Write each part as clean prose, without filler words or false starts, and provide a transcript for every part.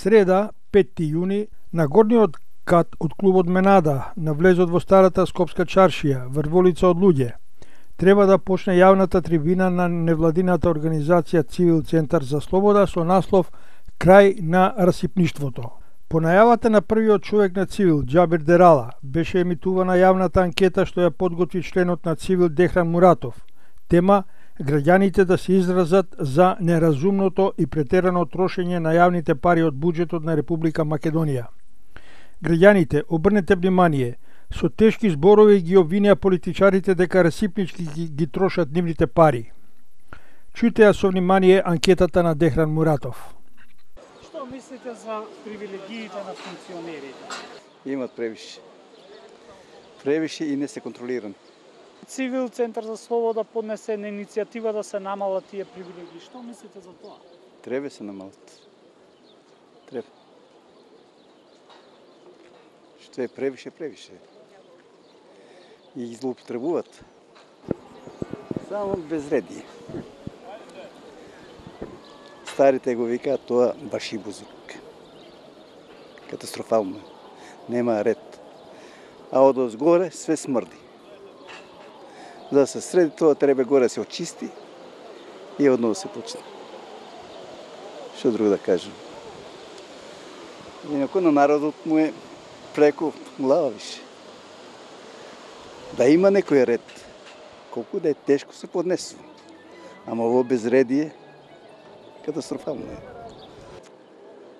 Среда, 5 јуни, на горниот кат од клубот Менада, на влезот во старата Скопска чаршија, врволица од луѓе, треба да почне јавната трибина на невладината организација Цивил Центар за слобода со наслов Крај на расипништвото. По најавата на првиот човек на Цивил, Џабир Дерала, беше емитувана јавната анкета што ја подготви членот на Цивил Дехран Муратов. Тема граѓаните да се изразат за неразумното и претерано трошење на јавните пари од буџетот на Република Македонија. Граѓаните, обрнете внимание, со тешки зборови ги обвинија политичарите дека расипнички ги трошат нивните пари. Чујте ја со внимание анкетата на Дехран Муратов. Што мислите за привилегиите на функционерите? Имат превише. Превише и не се контролирани. Цивил Центар за слобода поднесе на иницијатива да се намалат тие привилегии. Што мислите за тоа? Треба се намалат. Треба. Што е превише. И ги злоупотребуваат. Само безредие. Старите го викаат тоа баши бузук. Катастрофално. Нема ред. А од озгоре све смрди. За да се среди тоа треба горе се очисти и одново се почне. Што друго да кажем? Инако на народот му е преку глава више. Да има некој ред. Колку да е тешко се поднесува. Ама ово безредие катастрофално е.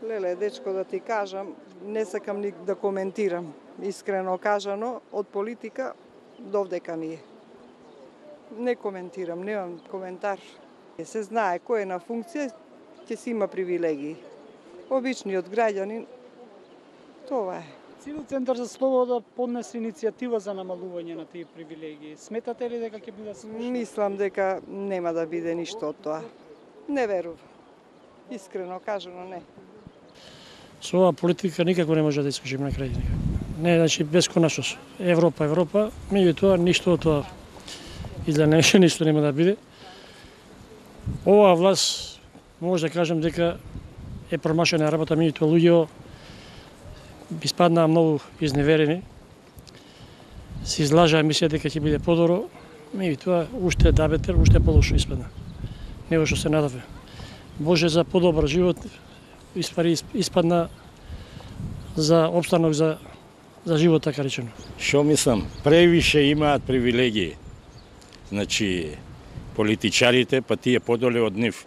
Леле, дечко, да ти кажам, не сакам ни да коментирам. Искрено кажано, од политика довдека ми е. Не коментирам, немам коментар. Се знае кој е на функција, ќе си има привилегии. Обичниот граѓанин, тоа е. Цивил Центар за слобода поднесе иницијатива за намалување на тие привилегии. Сметате ли дека ќе биде слушано? Мислам дека нема да биде ништо од тоа. Не верувам. Искрено кажано, не. Со оваа политика никако не може да искажиме на граѓаните. Не, значи бесконечност. Европа, меѓутоа ништо од тоа изгледа ништо нема да биде. Оваа власт може да кажем дека е промашена работа, меѓутоа луѓе испаднаа многу изневерени. Се излажаа, мислеа дека ќе биде подобро, меѓутоа уште дабетер, уште полошо испадна. Него што се надаве. Боже за подобар живот, испадна за обстанок за живот, така речено. Што мислам? Превише имаат привилегии. Значи, политичарите, па тие подоле од нив.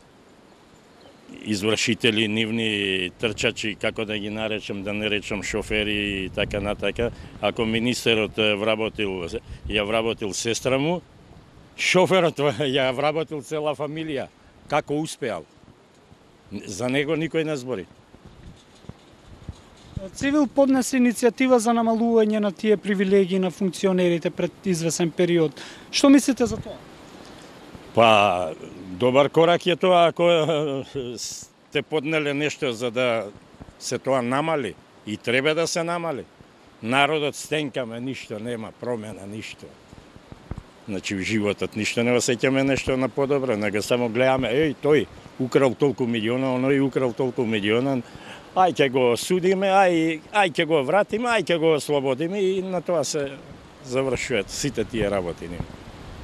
Извршители, нивни трчачи, како да ги наречам, да не речам шофери и така натака. Ако министерот ја вработил сестра му, шоферот ја вработил цела фамилија. Како успеал? За него никој не збори. Цивил поднесе иницијатива за намалување на тие привилегии на функционерите пред извесен период. Што мислите за тоа? Па, добар корак е тоа ако сте поднеле нешто за да се тоа намали и треба да се намали. Народот стенкаме, ништо нема промена, ништо. Значи, в животот ништо не осеќаме нешто на подобро, него само гледаме, тој украл толку милиона, оној украл толку милиона, ај ќе го судиме, ај ќе го вратиме, ај ќе го ослободиме и на тоа се завршуваат сите тие работи.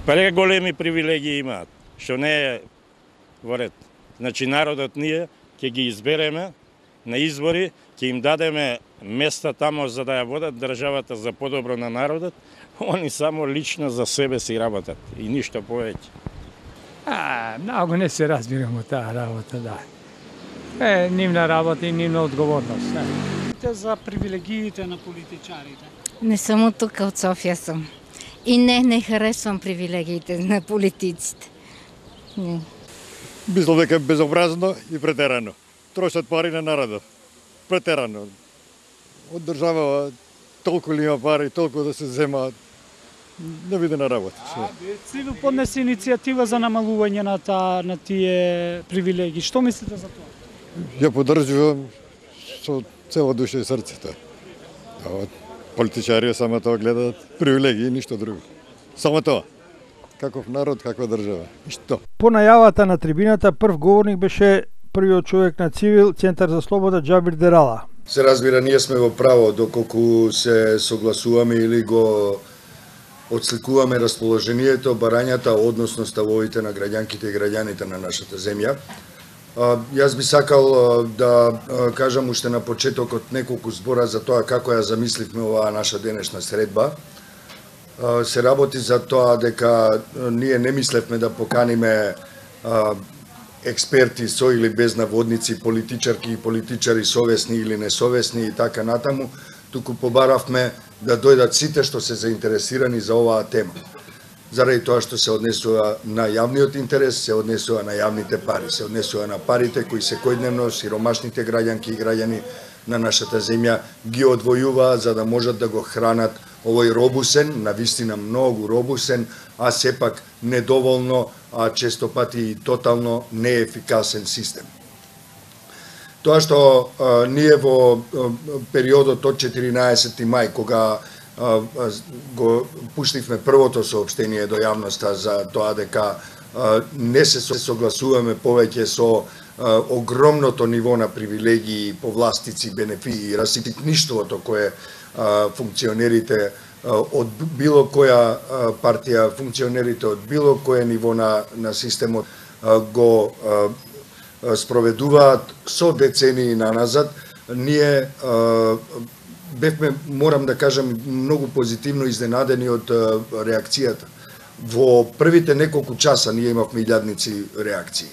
Преголеми привилегии имаат, што не е во ред. Значи, народот ние ќе ги избереме на избори, ќе им дадеме места тамо за да ја водат државата за подобро на народот, они само лично за себе си работат и ништо повеќе. Многу не се разбирам од таа работа, да. Нивна работа и нивна одговорност. За привилегиите на политичарите? Не само тука, од Софија сум. И не харесувам привилегиите на политиците. Не. Мислам дека е безобразно и претерано. Трошат пари на народот. Претерано. Од држава толку ли има пари, толку да се земаат. Не биде на работа. Цивил поднесе иницијатива за намалување на тие привилегии. Што мислите за тоа? Ја поддржувам со цела душа и срцето. Политичари само тоа гледаат привилегии и ништо друго. Само тоа. Каков народ, каква држава. Ништо. По најавата на трибината, прв говорник беше првиот човек на Цивил, Центар за слобода Џабир Дерала. Се разбира, ние сме во право доколку се согласуваме или го отсликуваме расположението, барањата, односно ставовите на граѓанките и граѓаните на нашата земја. Јас би сакал да кажам уште на почетокот неколку збора за тоа како ја замисливме оваа наша денешна средба. Се работи за тоа дека ние не мислевме да поканиме експерти со или без наводници, политичарки и политичари совесни или несовесни и така натаму, туку побаравме да дојдат сите што се заинтересирани за оваа тема. Заради тоа што се однесува на јавниот интерес, се однесува на јавните пари, се однесува на парите кои секојдневно сиромашните граѓанки и граѓани на нашата земја ги одвојуваат за да можат да го хранат овој робусен, навистина многу робусен, а сепак недоволно, а често пати и тотално неефикасен систем. Тоа што ние во периодот од 14. мај, кога го пуштивме првото соопштение до јавноста за тоа дека не се согласуваме повеќе со огромното ниво на привилегии, повластици, бенефити и раситништвото кое функционерите од било која партија, функционерите од било кое ниво на системот го спроведуваат со децении наназад, ние бевме, морам да кажам, многу позитивно изненадени од реакцијата. Во првите неколку часа ние имавме илјадници реакции.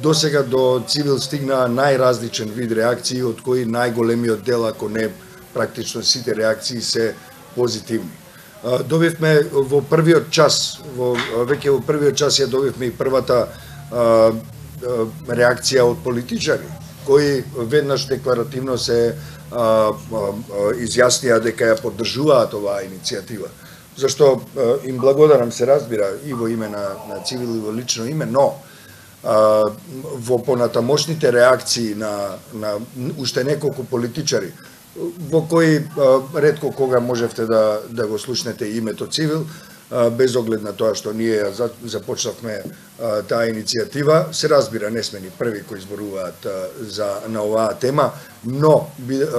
До сега до Цивил стигна најразличен вид реакции, од кои најголемиот дел, ако не практично сите реакции, се позитивни. Добивме во првиот час, веќе во првиот час ја добивме и првата реакција од политичари, кои веднаш декларативно се изјаснија дека ја поддржуваат оваа иницијатива. Зашто им благодарам, се разбира, и во име на Цивил и во лично име, но во понатамошните реакции на уште неколку политичари, во кои ретко кога можевте да го слушнете името Цивил, без оглед на тоа што ние започнавме таа иницијатива. Се разбира, не сме ни први кои зборуваат на оваа тема, но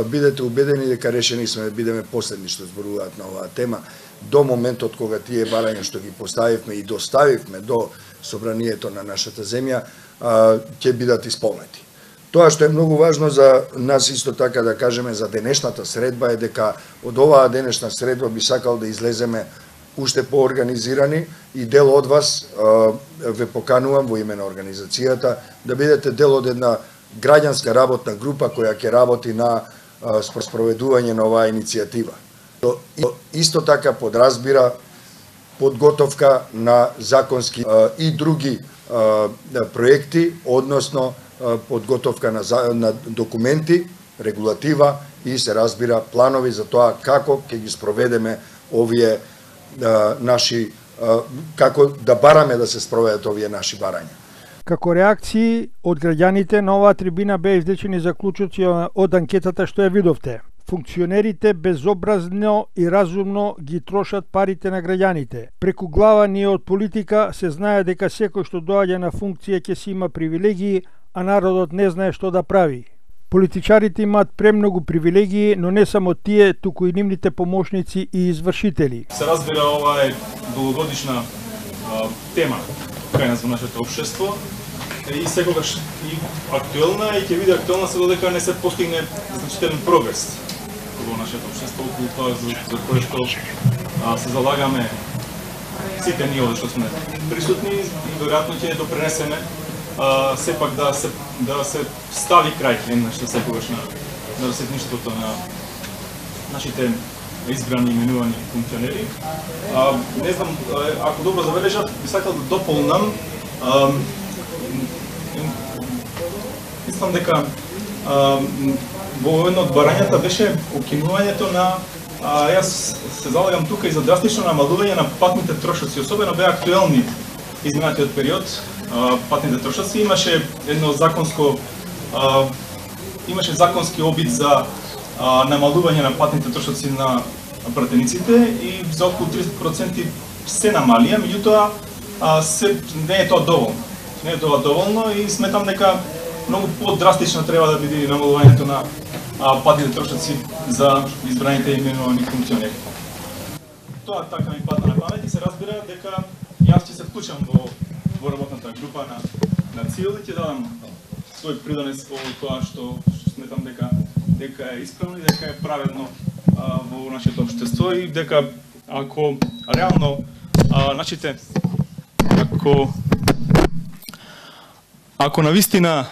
бидете убедени дека решени сме да бидеме последни што зборуваат на оваа тема, до моментот кога тие барања што ги поставивме и доставивме до собранието на нашата земја ќе бидат исполнети. Тоа што е многу важно за нас исто така да кажеме за денешната средба е дека од оваа денешна средба би сакал да излеземе уште поорганизирани и дел од вас ве поканувам во име на организацијата да бидете дел од една граѓанска работна група која ќе работи на спроведување на оваа иницијатива. Исто така подразбира подготовка на законски и други проекти, односно подготовка на документи, регулатива и се разбира планови за тоа како ќе ги спроведеме овие наши, како да бараме да се спроведат овие наши барања. Како реакции од граѓаните на оваа трибина беа извлечени заклучоци од анкетата што ја видовте. Функционерите безобразно и разумно ги трошат парите на граѓаните. Преку глава ние од политика се знае дека секој што доаѓа на функција ќе си има привилегии, а народот не знае што да прави. Политичарите имаат премногу привилегии, но не само тие, туку и нивните помошници и извршители. Се разбира, ова е долгогодишна тема кај нас во нашето општество и секогаш и актуелна и ќе биде актуелна се додека не се постигне значителен прогрес во нашето општество околу тоа за кое што се залагаме сите ние овде што сме присутни и веројатно ќе допринесеме сепак да се стави крај еднаш за секогаш на расетништвото на нашите избрани и именувани функционери. Не знам, ако добро забележав, би сакал да дополнам. Мислам дека во едно од барањата беше укинувањето на јас се залагам тука и за драстично намалување на патните трошоци, особено беа актуелни изминатиот период. Патните трошоци имаше едно законски обид за намалување на патните трошоци на пратениците и за околу 30% се намалија, меѓутоа не е тоа доволно. Не е тоа доволно и сметам дека многу подрастично треба да биде намалувањето на патните трошоци за избраните и именувани функционери. Тоа така ми пада на памет и се разбира дека јас ќе се вклучам во работната група на ЦИЛ и ќе дадам свој придонес по тоа што сметам дека е исправно и дека е праведно во нашето општество и дека ако реално значите ако навистина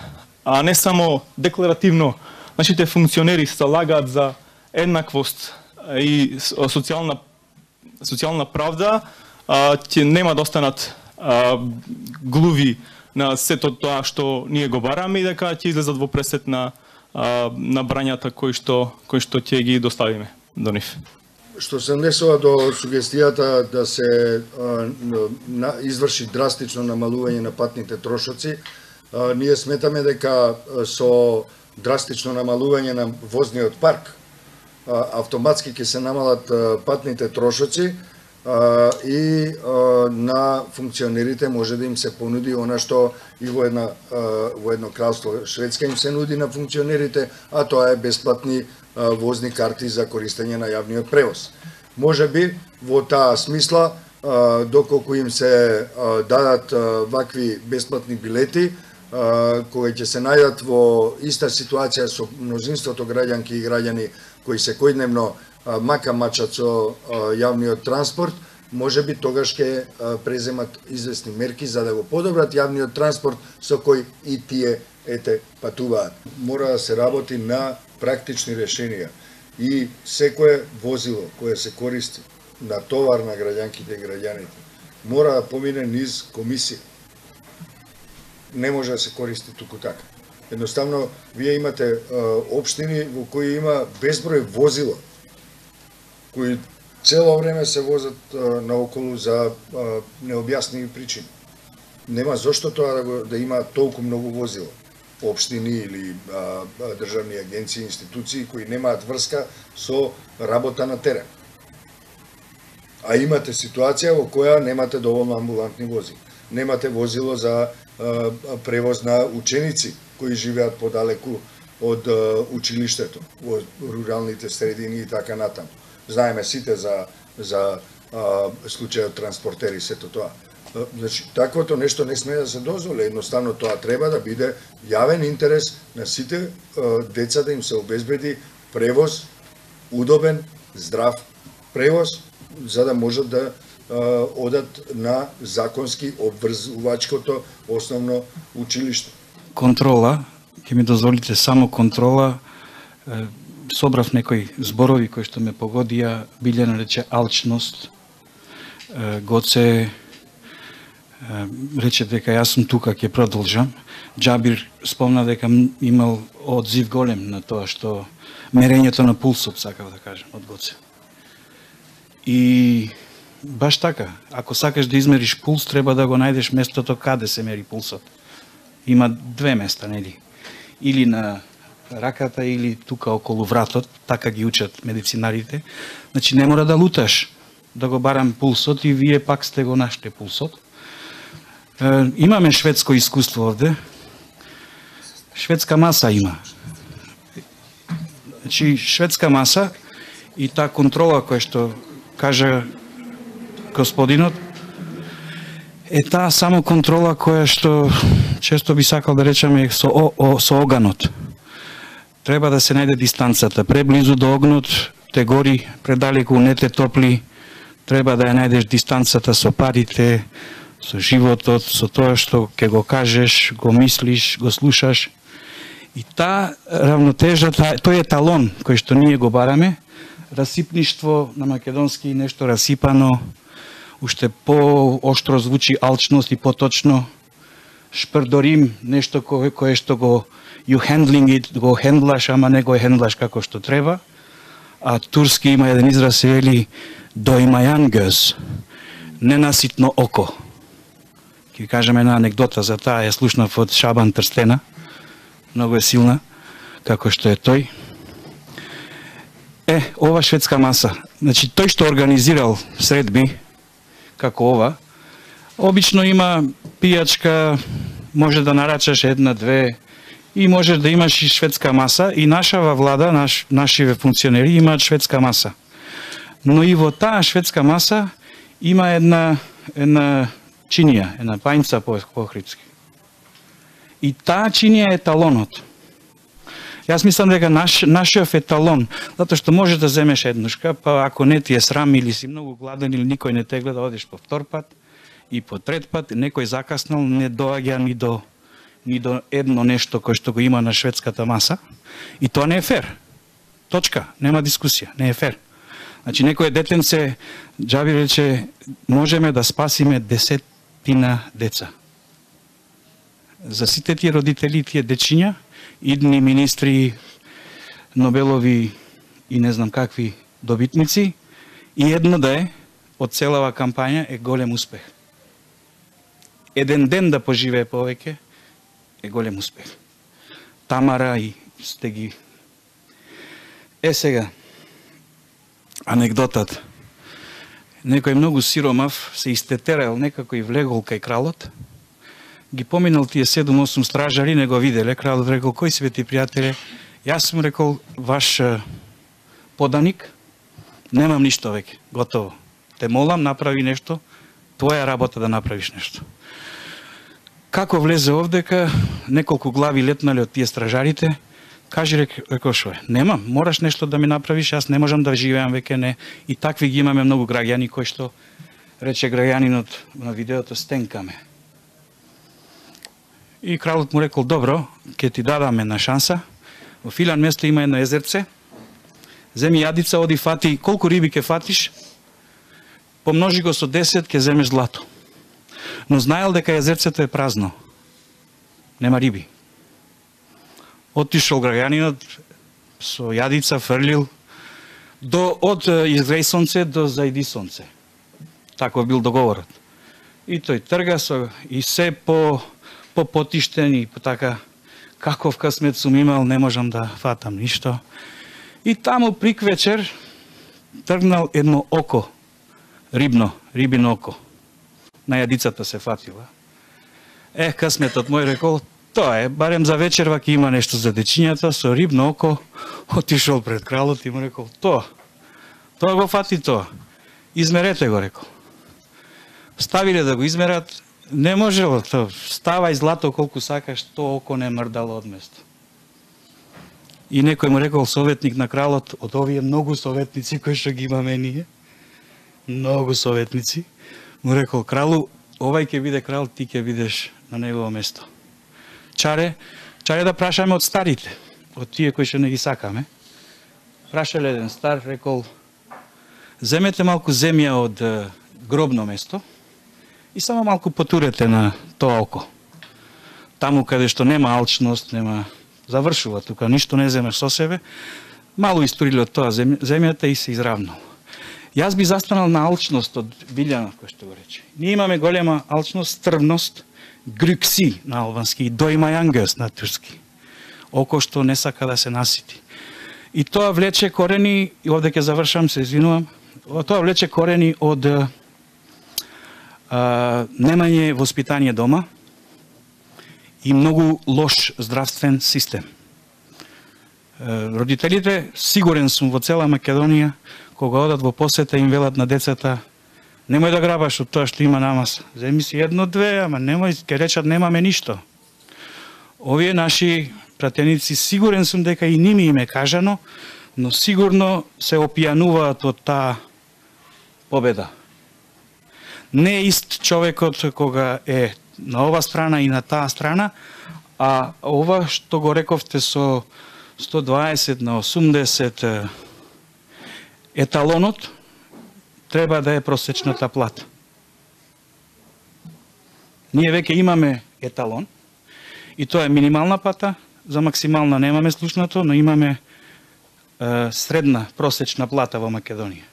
не само декларативно нашите функционери се лагаат за еднаквост и социјална правда, ќе нема да останат глуви на сето тоа што ние го бараме и дека ќе излезат во пресет на брањата кои што ќе ги доставиме до нив. Што се однесува до сугестијата да се изврши драстично намалување на патните трошоци, ние сметаме дека со драстично намалување на возниот парк автоматски ќе се намалат патните трошоци и на функционерите може да им се понуди она што и во едно кралство Шведска им се нуди на функционерите, а тоа е бесплатни возни карти за користење на јавниот превоз. Може би во таа смисла, доколку им се дадат вакви бесплатни билети, кои ќе се најдат во иста ситуација со мнозинството граѓанки и граѓани кои секојдневно мачат со јавниот транспорт, може би тогаш ќе преземат известни мерки за да го подобрат јавниот транспорт со кој и тие патуваат. Мора да се работи на практични решенија и секое возило кое се користи на товар на граѓанките и граѓаните мора да помине низ комисија. Не може да се користи туку така. Едноставно, вие имате општини во кои има безброј возила, кои цело време се возат наоколу за необјасними причини. Нема зошто тоа да има толку многу возила. Општини или државни агенции, институции кои немаат врска со работа на терен. А имате ситуација во која немате доволно амбулантни возила. Немате возило за превоз на ученици кои живеат подалеку од училиштето, во руралните средини и така натаму. Знаеме сите за случајот транспортери, сето тоа. Значи, таквото нешто не сме да се дозволи, едноставно тоа треба да биде јавен интерес на сите деца да им се обезбеди превоз, удобен, здрав превоз, за да можат да одат на законски обврзувачкото основно училиште. Контрола, ќе ми дозволите само контрола, собрав некои зборови кои што ме погодија, Билјана рече алчност, Гоце рече дека јас сум тука, ќе продолжам. Џабир спомна дека имал одзив голем на тоа што мерењето на пулсот, сакав да кажам, од Гоце. И баш така, ако сакаш да измериш пулс, треба да го најдеш местото каде се мери пулсот. Има две места, нели? Или на раката, или тука околу вратот, така ги учат медицинарите. Значи не мора да луташ да го барам пулсот и вие пак сте го нашли пулсот. Имаме шведско искуство овде. Шведска маса има. Значи шведска маса и таа контрола која што кажа господинот, е таа само контрола која што често би сакал да речеме со оганот. Треба да се најде дистанцата. Преблизу до огнот те гори, предалеку не те топли. Треба да ја најдеш дистанцата со парите, со животот, со тоа што ќе го кажеш, го мислиш, го слушаш. И таа равнотежа, тој е талон кој што ние го бараме. Расипништво на македонски, нешто расипано, уште по-оштро звучи алчност и поточно. Шпрдорим, нешто кое што го you handling it, го хендлаш, ама не го хендлаш како што треба. А турски има еден израз, се вели доимајан гъс, ненаситно око. Ќе кажем една анекдота за таа, ја слушнав од Шабан Трстена, многу е силна, како што е тој. Ова шведска маса, значи тој што организирал средби, како ова, обично има пијачка, може да нарачаш една, две, и можеш да имаш и шведска маса, и нашава влада, нашиве функционери имаат шведска маса. Но и во таа шведска маса има една чинија, една пајнца по охридски. И таа чинија е еталонот. Јас мислам дека нашиот еталон, затоа што можеш да земеш еднушка, па ако не ти е срам или си многу гладен или никој не те гледа, одиш по втор пат и по трет пат, некој закаснал, не доаѓа ни до едно нешто кој што го има на шведската маса, и тоа не е фер. Точка, нема дискусија, не е фер. Значи некој детенце, Џаби рече, можеме да спасиме 10 деца. За сите тие родители, тие дечиња, идни министри, Нобелови и не знам какви добитници, и едно да е, од целава кампања е голем успех. Еден ден да поживее повеќе е голем успех. Тамара и сте ги... Сега, анекдотата. Некој многу сиромав се истетерал некако и влегол кај кралот, ги поминал тие 7-8 стражари, не го виделе, кралот рекол, кој си бе ти пријателе? Јас сум рекол, ваш поданик, немам ништо веќе, готово. Те молам, направи нешто, твоја работа да направиш нешто. Како влезе овдека, неколку глави летнале од тие стражарите, кажи, рекол, шо е, немам, мораш нешто да ми направиш, јас не можам да живеам веќе, не. И такви ги имаме многу граѓани, кои што, рече граѓанинот на видеото, стенкаме. И кралот му рекол, добро, ќе ти дадаме на шанса, во Филан место има едно езерце, земи јадица, оди фати, колку риби ќе фатиш, помножи го со 10, ќе земеш злато. Но знаел дека езерцето е празно, нема риби. Отишол граѓанинот со јадица, фрлил, од изгреј сонце до зајди сонце. Таков бил договорот. И тој трга и се по потиштен и по така, каков късмет сум имал, не можам да фатам ништо. И таму прик вечер тргнал едно око, рибино око. На јадицата се фатила. Късметот мој рекол, тоа е, барем за вечерва ќе има нешто за дечињата, со рибно око, отишол пред кралот и му рекол, тоа го фати тоа. Измерете го, рекол. Ставиле да го измерат, не можело тоа. Ставај злато колку сакаш, тоа око не мрдало од место. И некој му рекол, советник на кралот, од овие многу советници кои што ги имаме ние, многу советници, му рекол, кралу, овај ќе биде крал, ти ќе бидеш на негово место. Чаре да прашаме од старите, од тие кои што не ги сакаме. Прашале еден стар, рекол, земете малку земја од гробно место и само малку потурете на тоа око. Таму каде што нема алчност, нема завршува, тука ништо не земеш со себе, мало историле од тоа земјата и се изравнал. Јас би застанал на алчност од Билјана, кој што го рече. Ние имаме голема алчност, стрвност, грюкси на албански, дојмајангес на турски. Око што не сака да се насити. И тоа влече корени, и овде ќе завршам, се извинувам, тоа влече корени од немање воспитание дома и многу лош здравствен систем. Родителите, сигурен сум во цела Македонија, кога одат во посета им велат на децата, немој да грабаш од тоа што има намаз. Земи си едно-две, ама немој, ке речат немаме ништо. Овие наши пратеници, сигурен сум дека и ними им е кажано, но сигурно се опијануваат од таа победа. Не е ист човекот кога е на ова страна и на таа страна, а ова што го рековте со 120 на 80 еталонот треба да е просечната плата. Ние веќе имаме еталон и тоа е минимална плата, за максимална немаме слушнато, но имаме средна просечна плата во Македонија.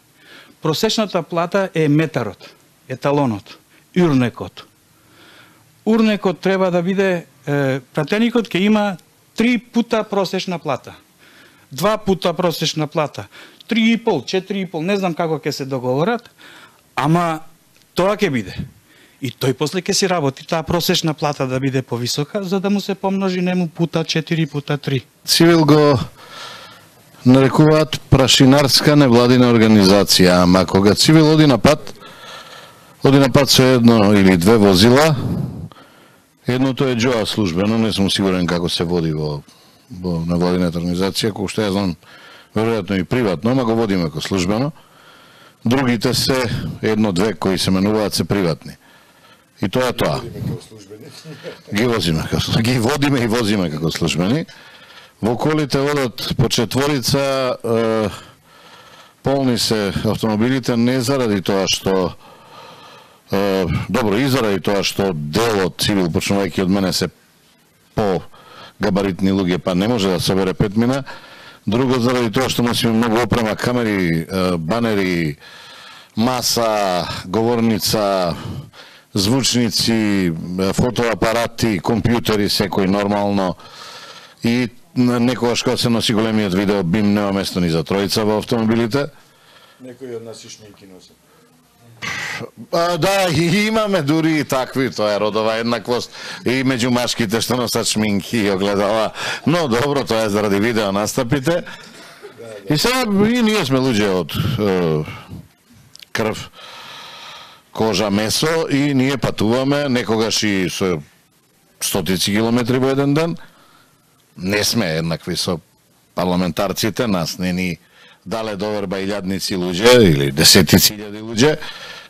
Просечната плата е метарот, еталонот, урнекот. Урнекот треба да биде, пратеникот ќе има 3 пута просечна плата, 2 пута просечна плата, 3,5, 4,5, не знам како ќе се договорат, ама тоа ќе биде. И тој после ќе си работи таа просечна плата да биде повисока, за да му се помножи нему пута 4 пута 3. Цивил го нарекуваат прашинарска невладина организација, ама кога Цивил оди на пат со едно или две возила, едното е џоа службено, не сум сигурен како се води во невладината организација, кој што ја знам, веројатно и приватно, ама го водиме како службено. Другите се едно-две кои се менуваат се приватни. И тоа е тоа. Ги водиме и возиме како службени. Во колите одат по четворица, полни се автомобилите не заради тоа што добро, и заради тоа што дел од Цивил, почнувајќи од мене, се по габаритни луѓе, па не може да собере 5 мина. Друго заради тоа што носиме многу опрема, камери, банери, маса, говорница, звучници, фотоапарати, компјутери, секој нормално. И некогаш кога се носи големиот видео, бим нема место ни за тројца во автомобилите. Некои од нас и шминки носат. Да, и имаме дури и такви, тоа е родова еднаквост и меѓу машките што носат шминки и огледала. Но добро, тоа е заради видео настапите. И сега и ние сме луѓе од крв, кожа, месо и ние патуваме некогаш и со стотици километри во еден ден. Не сме еднакви со парламентарците, нас не ни дале доверба илјадници луѓе или десетици илјади луѓе,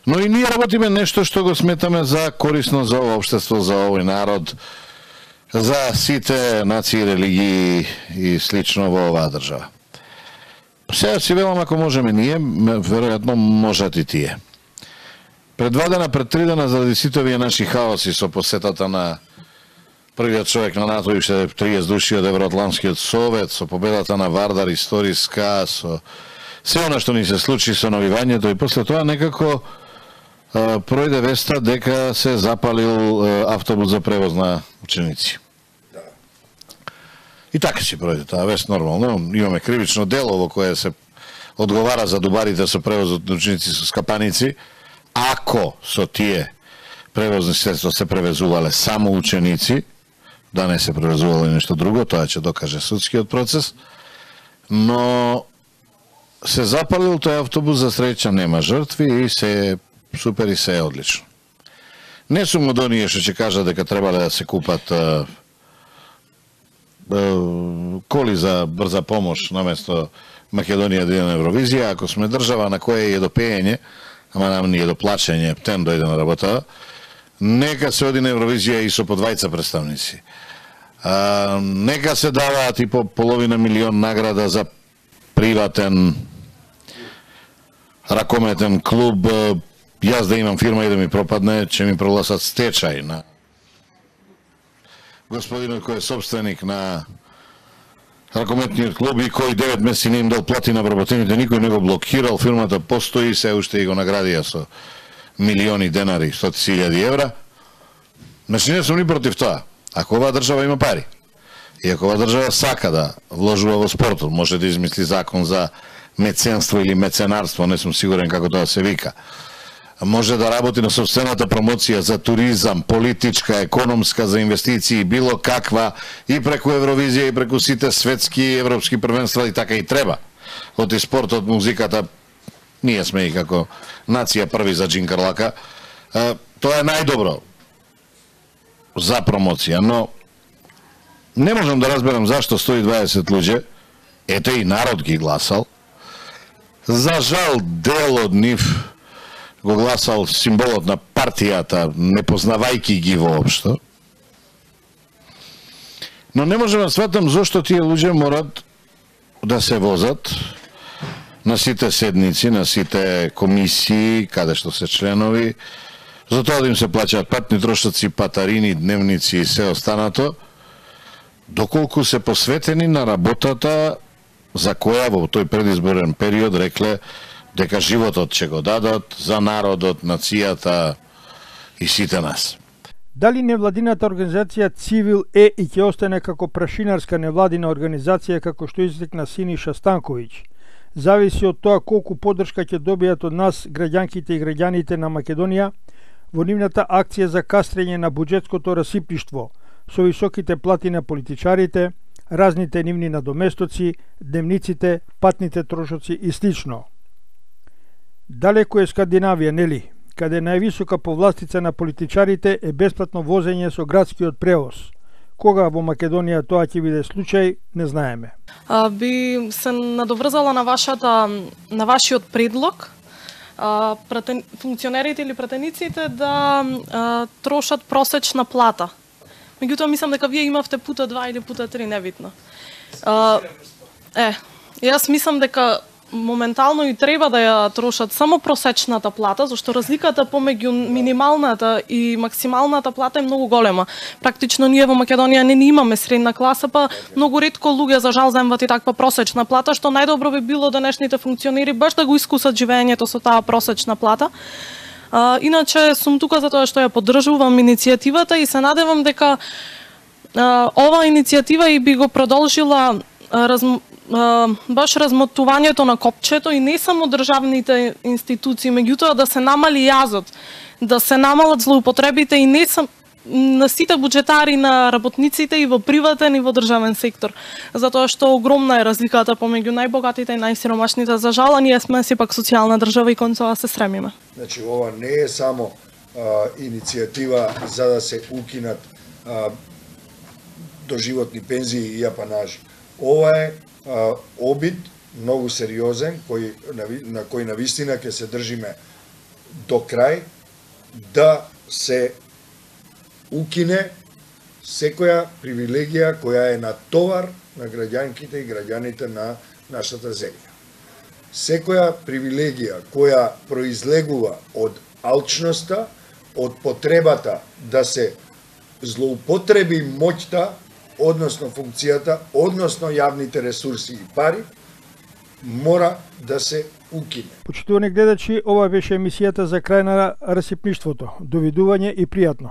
но и ние работиме нешто што го сметаме за корисно за ова општество, за овој народ, за сите нации, религии и слично во оваа држава. Сега си велам, ако можеме ние, веројатно можат и тие. Пред 2 дена, пред 3 дена, заради сите овие наши хаоси со посетата на првиот човек на НАТО и 30 души од Евроатлантскиот совет, со победата на Вардар историска, со се она што ни се случи со навивањето и после тоа некако пројде веста дека се запалил автобус за превоз на ученици. И така си пројде таа вест нормално. Имаме кривично дело во кое се одговара за дубарите со превозот на ученици со скапаници. Ако со тие превозни средства се превезувале само ученици, да не се превезувало и нешто друго, тоа ќе докаже судскиот процес, но се запалил тој автобус, за среќа нема жртви и се супер и се е одлично. Не сум од оние што ќе кажа дека требале да се купат коли за брза помош наместо Македонија да иде на Евровизија. Ако сме држава на која е до пеење, ама нам ни е до плачење, птен дојде на работа, нека се оди на Евровизија и со по 20 представници. Нека се даваат и по половина милион награда за приватен ракометен клуб. Јас да имам фирма и да ми пропадне, ќе ми прогласат стечај на господинот кој е собственик на ракометниот клуб и кој 9 месеци не им дал плати на вработените, никој не го блокирал, фирмата постои, се уште и го наградија со милиони денари, 100.000 евра. Значи не сум ни против тоа. Ако оваа држава има пари и ако оваа држава сака да вложува во спортот, може да измисли закон за меценство или меценарство, не сум сигурен како тоа се вика. Може да работи на собствената промоција за туризам, политичка, економска, за инвестиции, било каква, и преку Евровизија, и преку сите светски и европски првенства, и така и треба. Од и спортот, музиката, ние сме и како нација први за джинкарлака. Тоа е најдобро за промоција, но не можам да разберам зашто 120 луѓе, ете и народ ги гласал, за жал дел од нив го гласал символот на партијата, не познавајки ги воопшто. Но не можем да сватам зошто тие луѓе морат да се возат на сите седници, на сите комисии, каде што се членови, за тоа да им се плаќаат патни трошоци, патарини, дневници и се останато, доколку се посветени на работата за која во тој предизборен период рекле дека животот ќе го дадат за народот, нацијата и сите нас. Дали невладината организација Цивил е и ќе остане како прашинарска невладина организација како што изрекна Синиша Станковиќ? Зависи од тоа колку поддршка ќе добијат од нас граѓанките и граѓаните на Македонија во нивната акција за кастрење на буџетското расипништво, со високите плати на политичарите, разните нивни надоместоци, дневниците, патните трошоци и слично. Далеку е Скандинавија, нели, каде највисока повластица на политичарите е бесплатно возење со градскиот превоз. Кога во Македонија тоа ќе биде случај, не знаеме. Би се надоврзала на вашиот предлог, функционерите или пратениците да трошат просечна плата. Меѓутоа, мислам дека вие имавте пута 2 или пута 3, небитно. Јас мислам дека моментално и треба да ја трошат само просечната плата, зашто разликата помеѓу минималната и максималната плата е многу голема. Практично ние во Македонија не имаме средна класа, па многу ретко луѓе за жал земват и таква просечна плата, што најдобро би било денешните функционери баш да го искусат живеењето со таа просечна плата. Иначе сум тука затоа што ја поддржувам иницијативата и се надевам дека ова иницијатива и би го продолжила баш размотувањето на копчето и не само државните институции, меѓутоа да се намали јазот, да се намалат злоупотребите и не само на сите буџетари, на работниците и во приватен и во државен сектор. Затоа што огромна е разликата помеѓу најбогатите и најсиромашните. За жал, ние сме сепак социјална држава и кон тоа се стремиме. Значи, ова не е само иницијатива за да се укинат доживотни пензии и апанажи. Ова е обид многу сериозен на кој навистина ќе се држиме до крај, да се укине секоја привилегија која е на товар на граѓанките и граѓаните на нашата земја. Секоја привилегија која произлегува од алчноста, од потребата да се злоупотреби моќта, односно функцијата, односно јавните ресурси и пари, мора да се укине. Почитувани гледачи, ова беше емисијата за крај на расипништвото. Довидување и пријатно.